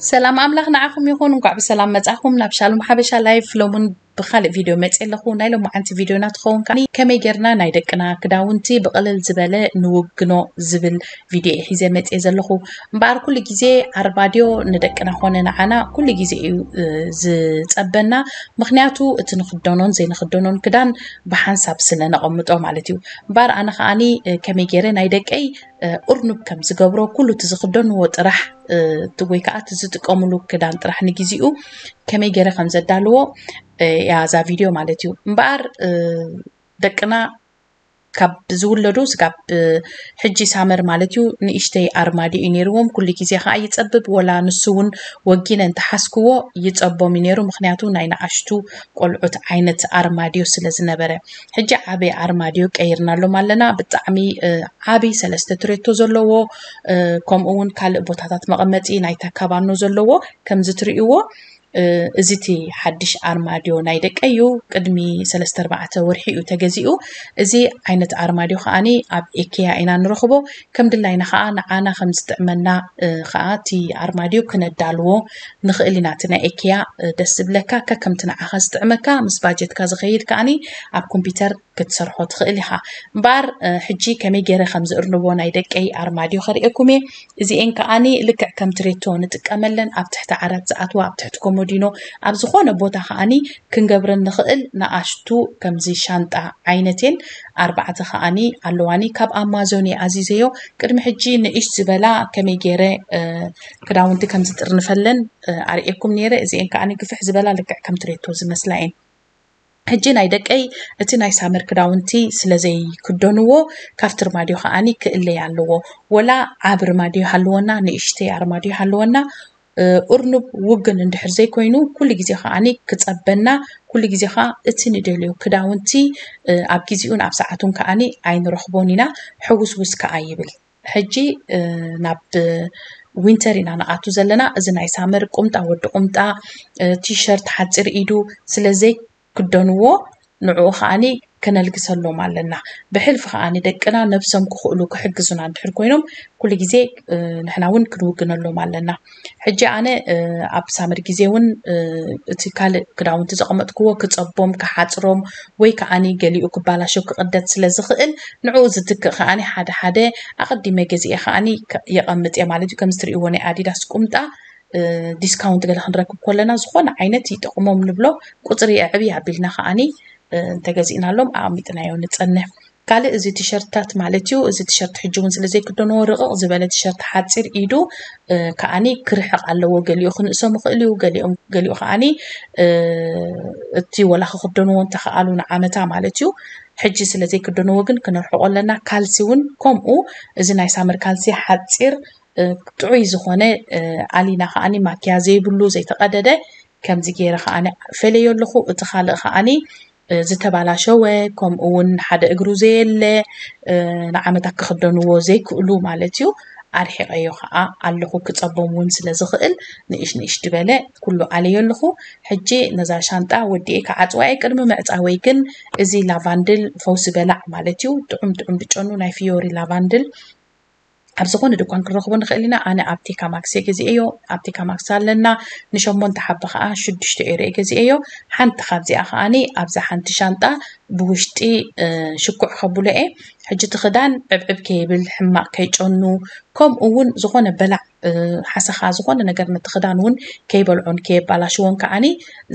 ሰላም ኣምላኽ ንዓኹም ይኹን። እንኳዕ ብሰላም መጻኹም ናብ ሻሎም ሓበሻ ላይፍ። ሎሙን ብኻልእ ቪድዮ መጽእ ኣለኹ። ናይ ሎማዓንቲ ቪድዮና ትኸውን ከኣ ከመይ ጌርና ናይ ደቅና ክዳውንቲ ብቕልል ዝበለ ንውግኖ ዝብል ቪድዮ እየ ሒዘ መጽእ ዘለኹ። እምበኣር ኩሉ ግዜ ኣርማድዮ ንደቅና ኾነ ንዓና ኩሉ ግዜ እዩ ዝጸበና። ምኽንያቱ እቲ ንኽደኖን ዘይንኽደኖን ክዳን ብሓንሳብ ስለ ነቐምጦ ማለት እዩ። እምበኣር ኣነ ከኣኒ ከመይ ገይረ ናይ ደቀይ እርኑብ ከም ዝገብሮ ኩሉ እቲ ዝኽደንዎ ጥራሕ ወይ ከዓ እቲ ዝጥቀምሉ ክዳን ጥራሕ ንግዚኡ ከመይ ገይረ ከም ዘዳልዎ እያ እዛ ቪድዮ ማለት እዩ። እምበኣር ደቅና ካብ ዝውለዱ ስጋብ ሕጂ ሳመር ማለት እዩ ንእሽተይ ኣርማድዮ እዩ ነይርዎም። ኩሉ ግዜ ከዓ ይፀብብ፣ ወላ ንሱ እውን ወጊነ እንተሓዝክዎ ይፀቦም እዩ ነይሩ። ምክንያቱ ናይ ንኣሽቱ ቆልዑት ዓይነት ኣርማድዮ ስለ ዝነበረ። ሕጂ ዓበይ ኣርማድዮ ቀይርናሎም ኣለና። ብጣዕሚ ዓብይ ሰለስተ ትሬቶ ዘለዎ ከምኡ እውን ካልእ ቦታታት መቐመጢ ናይ ተካባኖ ዘለዎ ከምዚ ትርእይዎ እዚ እቲ ሓድሽ ኣርማድዮ ናይ ደቀይ እዩ። ቅድሚ ሰለስተ ኣርባዕተ ወርሒ እዩ ተገዚኡ። እዚ ዓይነት ኣርማድዮ ከዓኒ ኣብ ኤኬያ ኢና ንረኽቦ። ከም ድላይና ከዓ ንዓና ከም ዝጥዕመና ከዓ እቲ ኣርማድዮ ክነዳልዎ ንኽእል ኢና። እቲ ናይ ኤኬያ ደስ ዝብለካ ከከምቲ ንዓኻ ዝጥዕመካ ምስ ባጀትካ ዝኸይድ ከዓኒ ኣብ ኮምፒውተር ክትሰርሖ ትኽእል ኢኻ። እምበኣር ሕጂ ከመይ ገይረ ከም ዝእርንቦ ናይ ደቀይ ኣርማድዮ ከርእየኩም እየ። እዚኤን ከዓኒ ልክዕ ከም ትሬቶ ንጥቀመለን፣ ኣብ ትሕቲ ዓራት ዝኣትዋ፣ ኣብ ትሕቲ ኮሞዲኖ፣ ኣብ ዝኾነ ቦታ ከዓኒ ክንገብረን ንኽእል ንኣሽቱ ከምዚ ሻንጣ ዓይነት እየን። ኣርባዕተ ከዓኒ ኣለዋኒ። ካብ ኣማዞን እየ ኣዚዘዮ። ቅድሚ ሕጂ ንእሽ ዝበላ ከመይ ገይረ ክዳውንቲ ከም ዝጥርንፈለን ኣርእየኩም ነይረ። እዚኤን ከዓኒ ግፍሕ ዝበላ ልክዕ ከም ትሬቶ ዝመስላ እየን። ሕጂ ናይ ደቀይ እቲ ናይ ሳመር ክዳውንቲ ስለ ዘይክደንዎ ካብቲ ኣርማድዮ ከዓኒ ክእለይ ኣለዎ። ወላ ዓቢ ኣርማድዮ ይሃልወና፣ ንእሽተይ ኣርማድዮ ይሃልወና፣ እርኑብ ውግን እንድሕር ዘይኮይኑ ኩሉ ግዜ ከዓኒ ክጸበና፣ ኩሉ ግዜ ከኣ እቲ ንደልዮ ክዳውንቲ ኣብ ግዜኡን ኣብ ሰዓቱን ከዓኒ ኣይንረኽቦን ኢና፣ ሕውስውስ ከኣ ይብል። ሕጂ ናብ ዊንተር ኢና ንኣቱ ዘለና። እዚ ናይ ሳመር ቁምጣ፣ ወዲ ቁምጣ፣ ቲሸርት፣ ሓጺር ኢዱ ስለ ዘይክደንዎ ንዕኡ ከዓኒ ከነልግሰሎም ኣለና። ብሕልፊ ከዓኒ ደቅና ነብሶም ክኽእሉ ክሕግዙና እንድሕር ኮይኖም ኩሉ ግዜ ንሕና እውን ክንውግነሎም ኣለና። ሕጂ ኣነ ኣብ ሳመር ግዜ እውን እቲ ካልእ ክዳውንቲ ዘቐመጥክዎ ክጸቦም፣ ክሓጽሮም ወይ ከዓኒ ገሊኡ ክባላሾ ክቕደድ ስለ ዝኽእል ንዕኡ ዝትክእ ከዓኒ ሓደ ሓደ ኣቐዲመ ገዚኤ ከዓኒ የቐምጥ እየ ማለት እዩ። ከምዚ ትርእይዎ ናይ ኣዲዳስ ቁምጣ ዲስካውንት ገለ ክንረክብ ከለና ዝኾነ ዓይነት ይጠቕሞም ንብሎ ቁፅሪ የዕብይ ኣቢልና ከዓኒ እንተገዚእናሎም ኣቐሚጥናዮ ንፀንሕ። ካልእ እዚ ቲሸርትታት ማለት እዩ። እዚ ቲሸርት ሕጂ እውን ስለ ዘይክደንዎ ርቕቕ ዝበለ ቲሸርት ሓፂር ኢዱ ከዓኒ ክርሕቕ ኣለዎ። ገሊኡ ክንእሶም ይኽእል እዩ፣ ገሊኦም ገሊኡ ከዓኒ እቲ ወላ ክክደንዎ እንተኸኣሉ ንዓመታ ማለት እዩ። ሕጂ ስለ ዘይክደንዎ ግን ክነርሕቆ ኣለና። ካልሲ እውን ከምኡ፣ እዚ ናይ ሳመር ካልሲ ሓፂር ጥዑይ ዝኾነ ኣሊና ከዓኒ ማክያ ዘይብሉ ዘይተቐደደ ከምዚ ገይረ ከዓኒ ፈለዮ ኣለኹ። እቲ ካልእ ከዓኒ ዝተባላሸወ ከምኡ እውን ሓደ እግሩ ዘየለ ንዓመታት ክኽደንዎ ዘይክእሉ ማለት እዩ ኣርሒቐዮ ከዓ ኣለኹ። ክፀቦም እውን ስለ ዝኽእል ንእሽ ንእሽ ድበለ ኩሉ ኣለዮ ኣለኹ። ሕጂ ነዛ ሻንጣ ወዲኤ ክዓፅዋ እየ። ቅድሚ ምዕፃወይ ግን እዚ ላቫንድል ፈውሲ በላዕ ማለት እዩ ጥዑም ጥዑም ድጨኑ ናይ ፊዮሪ ላቫንድል ኣብ ዝኾነ ድኳን ክንረኽቦ ንኽእል ኢና። ኣነ ኣብ ቴካ ማክስ እየ ገዚኤዮ። ኣብ ቴካ ማክስ ኣለና። ንሸሞንተ ሓባ ከዓ ሽዱሽተ ኤሮ እየ ገዚኤዮ። ሓንቲ ካብዚኣ ከዓኒ ኣብዛ ሓንቲ ሻንጣ ብውሽጢ ሽኩዕ ከብሎ እየ። ሕጂ እቲ ክዳን ዕብዕብ ከይብል፣ ሕማቕ ከይጨኑ፣ ከምኡ እውን ዝኾነ በላዕ ሓሰኻ ዝኾነ ነገር ነቲ ክዳን እውን ከይበልዖን ከየባላሽዎን ከዓኒ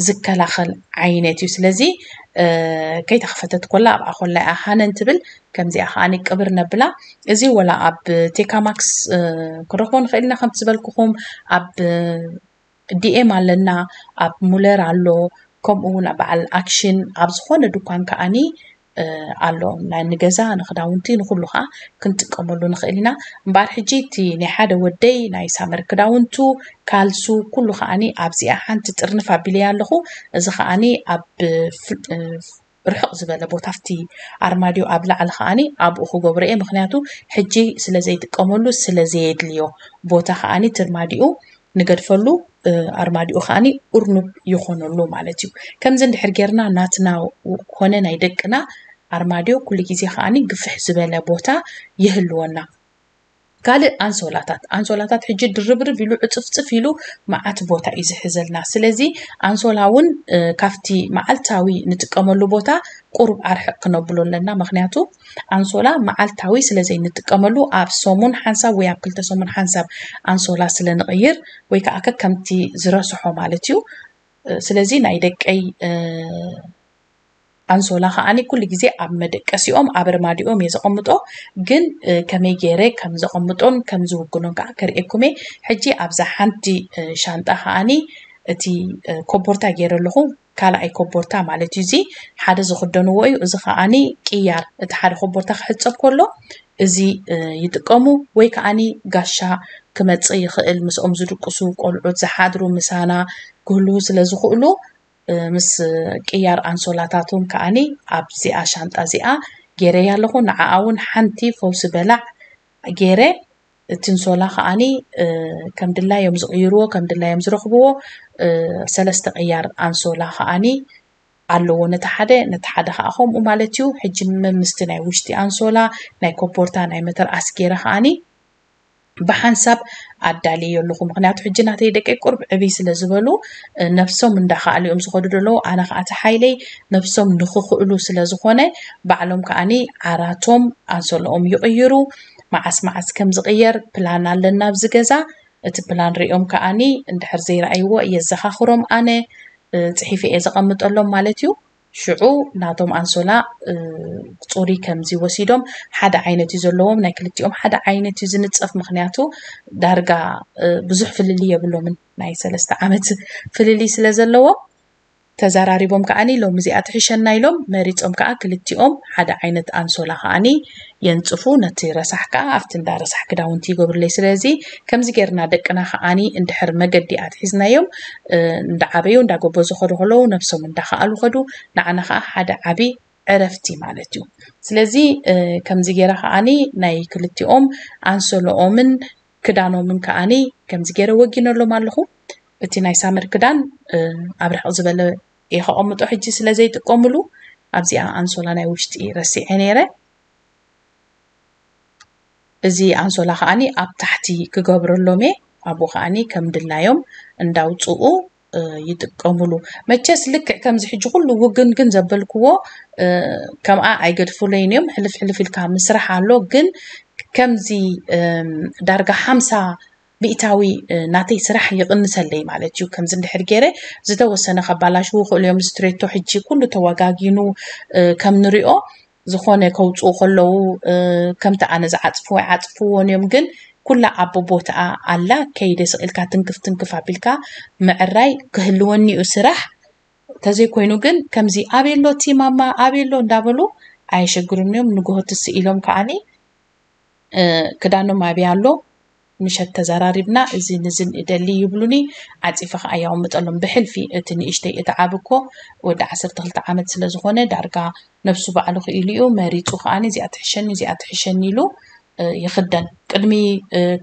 ዝከላኸል ዓይነት እዩ። ስለዚ ከይተኸፈተት ኮላ ኣብኣ ኮላ እያ ሃነን ትብል። ከምዚኣ ከዓኒ ቅብር ነብላ። እዚ ወላ ኣብ ቴካ ማክስ ክንረኽቦ ንኽእል ኢና። ከምቲ ዝበልኩኹም ኣብ ዲኤም ኣለና፣ ኣብ ሙለር ኣሎ፣ ከምኡ እውን ኣብ በዓል ኣክሽን ኣብ ዝኾነ ድኳን ከዓኒ ኣሎ። ናይ ንገዛ ንክዳውንቲ ንኩሉ ከዓ ክንጥቀመሉ ንኽእል ኢና። እምበኣር ሕጂ እቲ ናይ ሓደ ወደይ ናይ ሳመር ክዳውንቱ ካልሱ ኩሉ ከዓኒ ኣብዚኣ ሓንቲ ጥርንፍ ኣቢለያ ኣለኹ። እዚ ከዓኒ ኣብ ርሕቕ ዝበለ ቦታ ኣብቲ ኣርማድዮ ኣብ ላዕሊ ከዓኒ ኣብኡ ክገብሮ እየ። ምክንያቱ ሕጂ ስለ ዘይጥቀመሉ ስለ ዘየድልዮ ቦታ ከዓኒ እቲ ኣርማድዮ ንገድፈሉ ኣርማድዮ ከዓኒ እርኑብ ይኾነሉ ማለት እዩ። ከምዚ እንድሕር ጌርና ናትና ኮነ ናይ ደቅና ኣርማድዮ ኩሉ ግዜ ከዓኒ ግፍሕ ዝበለ ቦታ ይህልወና። ካልእ ኣንሶላታት፣ ኣንሶላታት ሕጂ ድርብርብ ኢሉ ዕፅፍፅፍ ኢሉ መዓት ቦታ እዩ ዝሕዘልና። ስለዚ ኣንሶላ እውን ካብቲ መዓልታዊ ንጥቀመሉ ቦታ ቁሩብ ኣርሕቕ ክነብሎ ኣለና። ምክንያቱ ኣንሶላ መዓልታዊ ስለ ዘይንጥቀመሉ ኣብ ሰሙን ሓንሳብ ወይ ኣብ ክልተ ሰሙን ሓንሳብ ኣንሶላ ስለ ንቕይር ወይ ከዓ ከከምቲ ዝረስሖ ማለት እዩ። ስለዚ ናይ ደቀይ ኣንሶላ ከዓኒ ኩሉ ግዜ ኣብ መደቀሲኦም ኣብ ኣርማዲኦም እየ ዘቐምጦ። ግን ከመይ ገይረ ከም ዘቐምጦን ከም ዝውግኖን ከዓ ከርእየኩም እየ። ሕጂ ኣብዛ ሓንቲ ሻንጣ ከዓኒ እቲ ኮቦርታ ገይረ ኣለኹ። ካልኣይ ኮቦርታ ማለት እዩ። እዚ ሓደ ዝኽደንዎ እዩ። እዚ ከዓኒ ቅያር፣ እቲ ሓደ ኮቦርታ ክሕፀብ ከሎ እዚ ይጥቀሙ። ወይ ከዓኒ ጋሻ ክመፅእ ይኽእል፣ ምስኦም ዝድቅሱ ቆልዑት ዝሓድሩ ምሳና ክህልዉ ስለ ዝኽእሉ ምስ ቅያር ኣንሶላታቶም ከዓኒ ኣብዚኣ ሻንጣ እዚኣ ገይረያ ኣለኹ። ንዓኣ እውን ሓንቲ ፈውሲ በላዕ ገይረ፣ እቲ ኣንሶላ ከዓኒ ከም ድላዮም ዝቕይርዎ ከም ድላዮም ዝረኽብዎ ሰለስተ ቅያር ኣንሶላ ከዓኒ ኣለዎ። ነቲ ሓደ ነቲ ሓደ ከዓ ከምኡ ማለት እዩ። ሕጂ መምስቲ ናይ ውሽጢ ኣንሶላ ናይ ኮቦርታ ናይ መተርኣስ ገይረ ከዓኒ ብሓንሳብ ኣዳልየ ኣለኹ። ምክንያቱ ሕጂ ናተይ ደቂ ቁርብ ዕብይ ስለ ዝበሉ ነብሶም እንዳኸኣሉ እዮም ዝኸዱ ዘለዉ። ኣነ ከዓ እቲ ሓይለይ ነብሶም ንክኽእሉ ስለ ዝኾነ ባዕሎም ከዓኒ ዓራቶም ኣንሶለኦም ይቕይሩ። መዓስ መዓስ ከም ዝቕየር ፕላን ኣለና ኣብዚ ገዛ። እቲ ፕላን ሪኦም ከዓኒ እንድሕር ዘይረኣይዎ የዘኻኽሮም። ኣነ ፅሒፈ እየ ዘቐምጠሎም ማለት እዩ። ሽዑ ናቶም ኣንሶላ ፅሩይ ከምዚ ወሲዶም ሓደ ዓይነት እዩ ዘለዎም። ናይ ክልቲኦም ሓደ ዓይነት እዩ ዝንፀፍ። ምክንያቱ ዳርጋ ብዙሕ ፍልልይ የብሎምን። ናይ ሰለስተ ዓመት ፍልልይ ስለ ዘለዎም ተዘራሪቦም ከዓኒ ሎም እዚኣ ትሕሸና ኢሎም መሪፆም ከዓ ክልቲኦም ሓደ ዓይነት ኣንሶላ ከዓኒ የንፅፉ። ነቲ ረሳሕ ከዓ ኣብቲ እንዳ ረሳሕ ክዳውንቲ ይገብሩለይ። ስለዚ ከምዚ ጌርና ደቅና ከዓኒ እንድሕር መገዲ ኣትሒዝናዮም እንዳዓበዩ እንዳጎበዙ ከዱ ከለዉ ነብሶም እንዳኸኣሉ ከዱ። ንዓና ከዓ ሓደ ዓቢ ዕረፍቲ ማለት እዩ። ስለዚ ከምዚ ጌረ ከዓኒ ናይ ክልቲኦም ኣንሶሎኦምን ክዳኖምን ከዓኒ ከምዚ ጌረ ወጊነሎም ኣለኹ። እቲ ናይ ሳመር ክዳን ኣብ ርሕቕ ዝበለ እየ ከቐምጦ ሕጂ ስለ ዘይጥቀምሉ ኣብዚኣ ኣንሶላ ናይ ውሽጢ ረሲዐ ነይረ። እዚ ኣንሶላ ከዓኒ ኣብ ታሕቲ ክገብረሎም እየ። ኣብኡ ከዓኒ ከም ድላዮም እንዳውፅኡ ይጥቀምሉ። መቸስ ልክዕ ከምዚ ሕጂ ኩሉ ውግን ግን ዘበልክዎ ከምኣ ኣይገድፉለይን እዮም። ሕልፍ ሕልፍ ኢልካ ምስራሕ ኣሎ። ግን ከምዚ ዳርጋ ሓምሳ ሚእታዊ ናተይ ስራሕ ይቕንሰለይ ማለት እዩ። ከምዚ እንድሕር ገይረ ዝተወሰነ ከባላሽዉ ይኽእሉ እዮም። እዚ ትሬቶ ሕጂ ኩሉ ተወጋጊኑ ከም ንሪኦ ዝኾነ ከውፅኡ ከለዉ ከምቲ ኣነ ዝዓፅፍዎ ኣይዓፅፍዎን እዮም። ግን ኩላ ኣብ ቦታኣ ኣላ። ከይደ ስቕ ኢልካ ትንክፍ ትንክፍ ኣቢልካ ምዕራይ ክህልወኒ እዩ ስራሕ። ተዘይኮይኑ ግን ከምዚ ኣበይ ኣሎ እቲ ማማ ኣበይ ኣሎ እንዳበሉ ኣየሸግሩን እዮም። ንግሆ ትስእ ኢሎም ከዓኒ ክዳኖም ኣበይ ኣሎ ምሸት ተዘራሪብና እዝን እዝን እደሊ ይብሉኒ። ዓፂፈ ከዓ የቐምጠሎም። ብሕልፊ እቲ ንእሽተይ እቲ ዓቢ እኮ ወዲ ዓሰርተ ክልተ ዓመት ስለ ዝኾነ ዳርጋ ነብሱ ባዕሉ ክኢሉ እዩ መሪፁ። ከዓኒ እዚኣ ትሕሸኒ እዚኣ ትሕሸኒ ኢሉ ይኽደን። ቅድሚ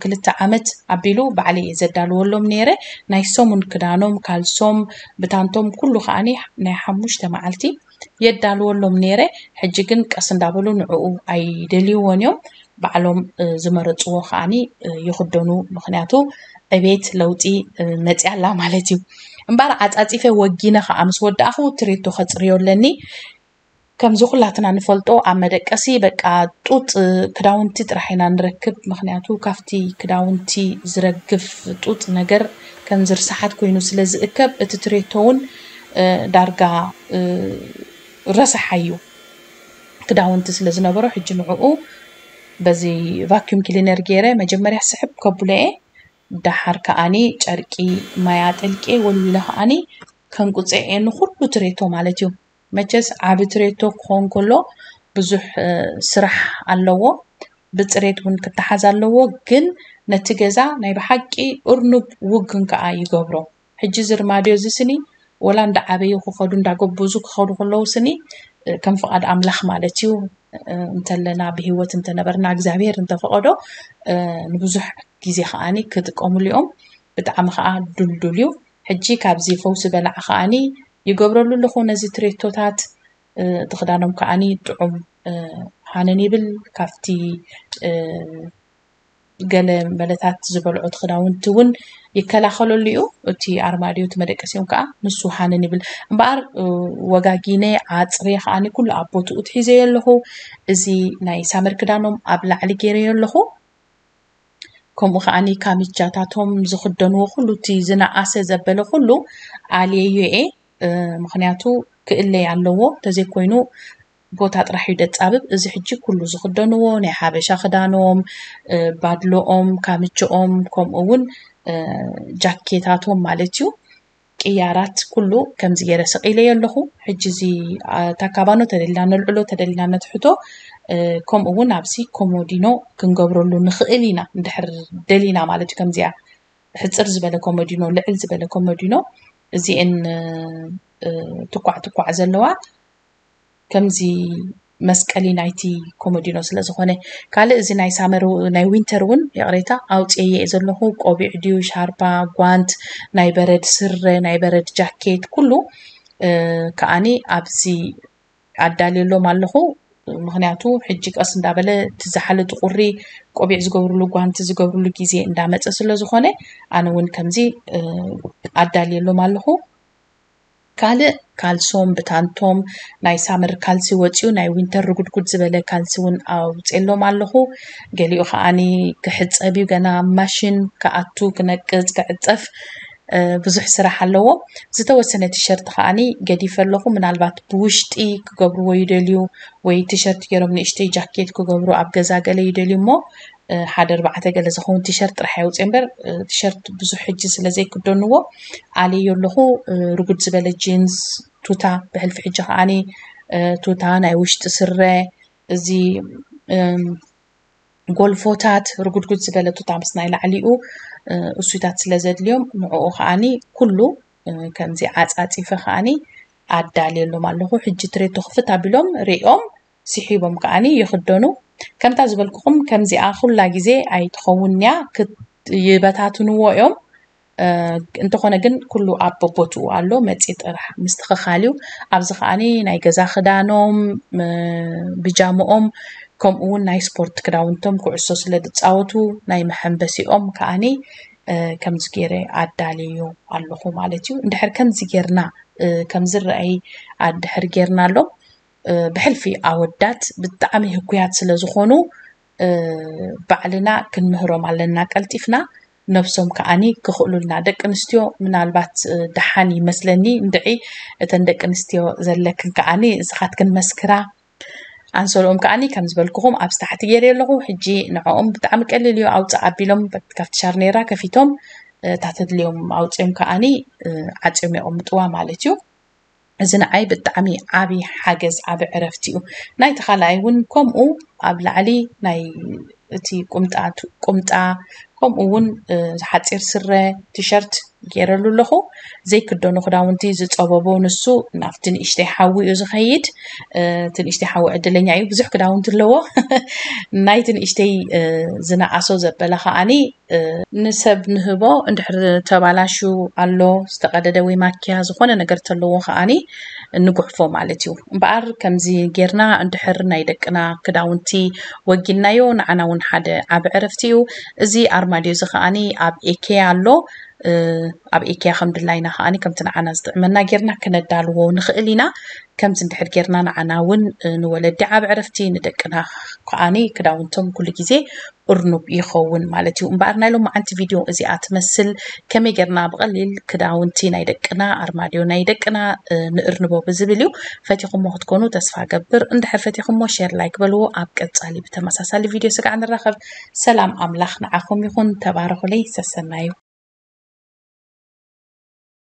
ክልተ ዓመት ኣቢሉ ባዕለይ እየ ዘዳልወሎም ነይረ። ናይ ሰሙን ክዳኖም፣ ካልሶም፣ ብታንቶም ኩሉ ከዓኒ ናይ ሓሙሽተ መዓልቲ የዳልወሎም ነይረ። ሕጂ ግን ቀስ እንዳበሉ ንዕኡ ኣይደልይዎን እዮም። ባዕሎም ዝመረፅዎ ከዓኒ ይኽደኑ። ምክንያቱ ዕቤት ለውጢ መፅያ ኣላ ማለት እዩ። እምበኣር ዓፃፂፈ ወጊነ ከዓ ምስ ወዳእኹ ትሬቶ ከፅርዮ ኣለኒ። ከምዚ ኩላትና ንፈልጦ ኣብ መደቀሲ በቃ ጡጥ ክዳውንቲ ጥራሕ ኢና ንረክብ። ምክንያቱ ካብቲ ክዳውንቲ ዝረግፍ ጡጥ ነገር ከም ዝርሳሓት ኮይኑ ስለ ዝእከብ እቲ ትሬቶ እውን ዳርጋ ረሳሓ እዩ። ክዳውንቲ ስለ ዝነበሮ ሕጂ ንዕኡ በዚ ቫኪዩም ክሊነር ገይረ መጀመርያ ስሕብ ከብሎ እየ። ደሓር ከዓኒ ጨርቂ ማይ ኣጠልቄ ወልዊለ ከዓኒ ከንቁፀ እየ ንኩሉ ትሬቶ ማለት እዩ። መቸስ ዓቢ ትሬቶ ክኸውን ከሎ ብዙሕ ስራሕ ኣለዎ። ብፅሬት እውን ክተሓዝ ኣለዎ። ግን ነቲ ገዛ ናይ ብሓቂ እርኑብ ውግን ከዓ ይገብሮ። ሕጂ እዚ ርማድዮ እዚ ስኒ ወላ እንዳዓበዩ ክኸዱ እንዳጎበዙ ክኸዱ ከለዉ ስኒ ከም ፍቓድ ኣምላኽ ማለት እዩ። እንተለና ብህይወት እንተነበርና እግዚኣብሔር እንተፈቐዶ ንብዙሕ ግዜ ከዓኒ ክጥቀሙሉ እዮም። ብጣዕሚ ከዓ ዱልዱል እዩ። ሕጂ ካብዚ ፈውሲ በላዕ ከዓኒ ይገብረሉ ኣለኹ ነዚ ትሬቶታት። እቲ ክዳኖም ከዓኒ ጥዑም ሃነን ይብል። ካብቲ ገለ መለታት ዝበልዖት ክዳውንቲ እውን ይከላኸለሉ እዩ። እቲ ኣርማድዮ እቲ መደቀሲኦም ከዓ ንሱ ሃንን ይብል። እምበኣር ወጋጊነ ዓፅሬ ከዓኒ ኩሉ ኣብ ቦትኡ ትሒዘዮ ኣለኹ። እዚ ናይ ሳመር ክዳኖም ኣብ ላዕሊ ገይረዮ ኣለኹ። ከምኡ ከዓኒ ካሚቻታቶም ዝኽደንዎ ኩሉ እቲ ዝነኣሰ ዘበለ ኩሉ ኣልየዮ እየ። ምክንያቱ ክእለይ ኣለዎ፣ እንተዘይኮይኑ ቦታ ጥራሕ እዩ ደጻብብ። እዚ ሕጂ ኩሉ ዝኽደንዎ ናይ ሓበሻ ክዳኖም፣ ባድሎኦም፣ ካምችኦም፣ ከምኡ እውን ጃኬታቶም ማለት እዩ። ቅያራት ኩሉ ከምዚ ገይረ ሰቒለዮ ኣለኹ። ሕጂ እዚ እታ ካባኖ ተደሊና ነልዕሎ፣ ተደሊና ነትሕቶ። ከምኡ እውን ኣብዚ ኮሞዲኖ ክንገብረሉ ንኽእል ኢና፣ እንድሕር ደሊና ማለት እዩ። ከምዚኣ ሕፅር ዝበለ ኮሞዲኖ፣ ልዕል ዝበለ ኮሞዲኖ፣ እዚኤን ትኳዕ ትኳዕ ዘለዋ ከምዚ መስቀሊ ናይቲ ኮሞዲኖ ስለ ዝኾነ። ካልእ እዚ ናይ ሳመር፣ ናይ ዊንተር እውን ይቕሬታ ኣውፅኤ እየ ዘለኹ። ቆቢዕ ድዩ፣ ሻርባ፣ ጓንት፣ ናይ በረድ ስረ፣ ናይ በረድ ጃኬት፣ ኩሉ ከዓኒ ኣብዚ ኣዳልየሎም ኣለኹ። ምክንያቱ ሕጂ ቀስ እንዳበለ እቲ ዝሓለጡ ቁሪ ቆቢዕ ዝገብርሉ፣ ጓንቲ ዝገብርሉ ግዜ እንዳመፀ ስለ ዝኾነ፣ ኣነ እውን ከምዚ ኣዳልየሎም ኣለኹ። ካልእ ካልሶም ብታንቶም ናይ ሳመር ካልሲ ወፂኡ ናይ ዊንተር ርጉድጉድ ዝበለ ካልሲ እውን ኣውፅኤሎም ኣለኹ። ገሊኡ ከዓኒ ክሕፀብ እዩ፣ ገና ማሽን ክኣቱ፣ ክነቅፅ፣ ክዕፀፍ ብዙሕ ስራሕ ኣለዎ። ዝተወሰነ ቲሸርት ከዓኒ ገዲፈ ኣለኹ። ምናልባት ብውሽጢ ክገብርዎ ይደልዩ ወይ ቲሸርት ገይሮም ንእሽተይ ጃኬት ክገብሩ ኣብ ገዛ ገለ ይደልዩ እሞ ሓደ ኣርባዕተ ገለ ዝኸውን ቲሸርት ጥራሕ የውፅእ እምበር ቲሸርት ብዙሕ ሕጂ ስለ ዘይክደንዎ ኣልየዮ ኣለኹ። ርጉድ ዝበለ ጂንስ፣ ቱታ፣ ብሕልፊ ሕጂ ከዓኒ ቱታ፣ ናይ ውሽጢ ስረ፣ እዚ ጎልፎታት፣ ርጉድጉድ ዝበለ ቱታ ምስ ናይ ላዕሊኡ እሱይታት ስለ ዘድልዮም ንዕኡ ከዓኒ ኩሉ ከምዚ ዓፃፂፈ ከዓኒ ኣዳልየሎም ኣለኹ። ሕጂ ትሬቶ ክፍት ኣቢሎም ሪኦም ስሒቦም ከዓኒ ይኽደኑ። ከምታ ዝበልኩኹም ከምዚኣ ኩላ ግዜ ኣይትኸውን እያ፣ ይበታትንዎ እዮም። እንተኾነ ግን ኩሉ ኣብ በቦትኡ ኣሎ፣ መፂ ጥራሕ ምስትኽኻል እዩ። ኣብዚ ከዓኒ ናይ ገዛ ክዳኖም፣ ብጃምኦም፣ ከምኡ እውን ናይ ስፖርት ክዳውንቶም ኩዕሶ ስለ ዝፃወቱ ናይ መሐንበሲኦም ከዓኒ ከምዚ ገይረ ኣዳልዮ ኣለኹ ማለት እዩ። እንድሕር ከምዚ ጌርና ከምዝረኣይ ኣድሕር ጌርና ኣሎ ብሕልፊ ኣወዳት ብጣዕሚ ህኩያት ስለ ዝኾኑ ባዕልና ክንምህሮም ኣለና ቀልጢፍና፣ ነብሶም ከዓኒ ክኽእሉልና። ደቂ ኣንስትዮ ምናልባት ደሓን ይመስለኒ እንድዒ እተን ደቂ ኣንስትዮ ዘለክን ከዓኒ ንስኻትክን መስክራ። ኣንሶልኦም ከዓኒ ከም ዝበልኩኹም ኣብዚ ታሕቲ ገይረ ኣለኹ። ሕጂ ንዕኦም ብጣዕሚ ቀሊል እዩ፣ ኣውፅእ ኣቢሎም ካብቲ ሻርኔራ ከፊቶም እታ ተድልዮም ኣውፅኦም ከዓኒ ዓፅዮም የቐምጥዋ ማለት እዩ። እዚ ንዓይ ብጣዕሚ ዓቢ ሓገዝ፣ ዓቢ ዕረፍቲ እዩ። ናይቲ ካልኣይ እውን ከምኡ ኣብ ላዕሊ ናይ እቲ ቁምጣ፣ ቁምጣ ከምኡ እውን ሓፂር ስረ፣ ቲሸርት ገይረሉ ኣለኹ። ዘይክደኑ ክዳውንቲ ዝፀበቦ ንሱ ናብቲ ንእሽተይ ሓዊ እዩ ዝኸይድ። እቲ ንእሽተይ ሓዊ ዕድለኛ እዩ፣ ብዙሕ ክዳውንቲ ኣለዎ። ናይቲ ንእሽተይ ዝነኣሶ ዘበለ ከዓኒ ንሰብ ንህቦ፣ እንድሕር ተባላሹ ኣሎ ዝተቀደደ ወይ ማኪያ ዝኾነ ነገር ተለዎ ከዓኒ ንጉሕፎ ማለት እዩ። እምበኣር ከምዚ ጌርና እንድሕር ናይ ደቅና ክዳውንቲ ወጊናዮ ንዓና እውን ሓደ ዓቢ ዕረፍቲ እዩ። እዚ ኣርማድዮ እዚ ከዓኒ ኣብ ኤኬያ ኣሎ። ኣብ ኤኬያ ከም ድላይና ከዓኒ ከምቲ ንዓና ዝጥዕመና ጌርና ክነዳልዎ ንኽእል ኢና። ከምዚ እንድሕር ጌርና ንዓና እውን ንወለዲ ዓቢ ዕረፍቲ፣ ንደቅና ከዓኒ ክዳውንቶም ኩሉ ግዜ እርኑብ ይኸውን ማለት እዩ። እምበኣር ናይ ሎማዓንቲ ቪድዮ እዚኣ ትመስል። ከመይ ጌርና ብቐሊል ክዳውንቲ ናይ ደቅና፣ ኣርማድዮ ናይ ደቅና ንእርንቦ ብዝብል እዩ። ፈቲኹሞ ክትኮኑ ተስፋ ገብር። እንድሕር ፈቲኹሞ ሼር፣ ላይክ በልዎ። ኣብ ቀጻሊ ብተመሳሳሊ ቪድዮ ስጋዕ ንራኸብ። ሰላም ኣምላኽ ንዓኹም ይኹን። ተባረኹለይ። ሰሰናዩ።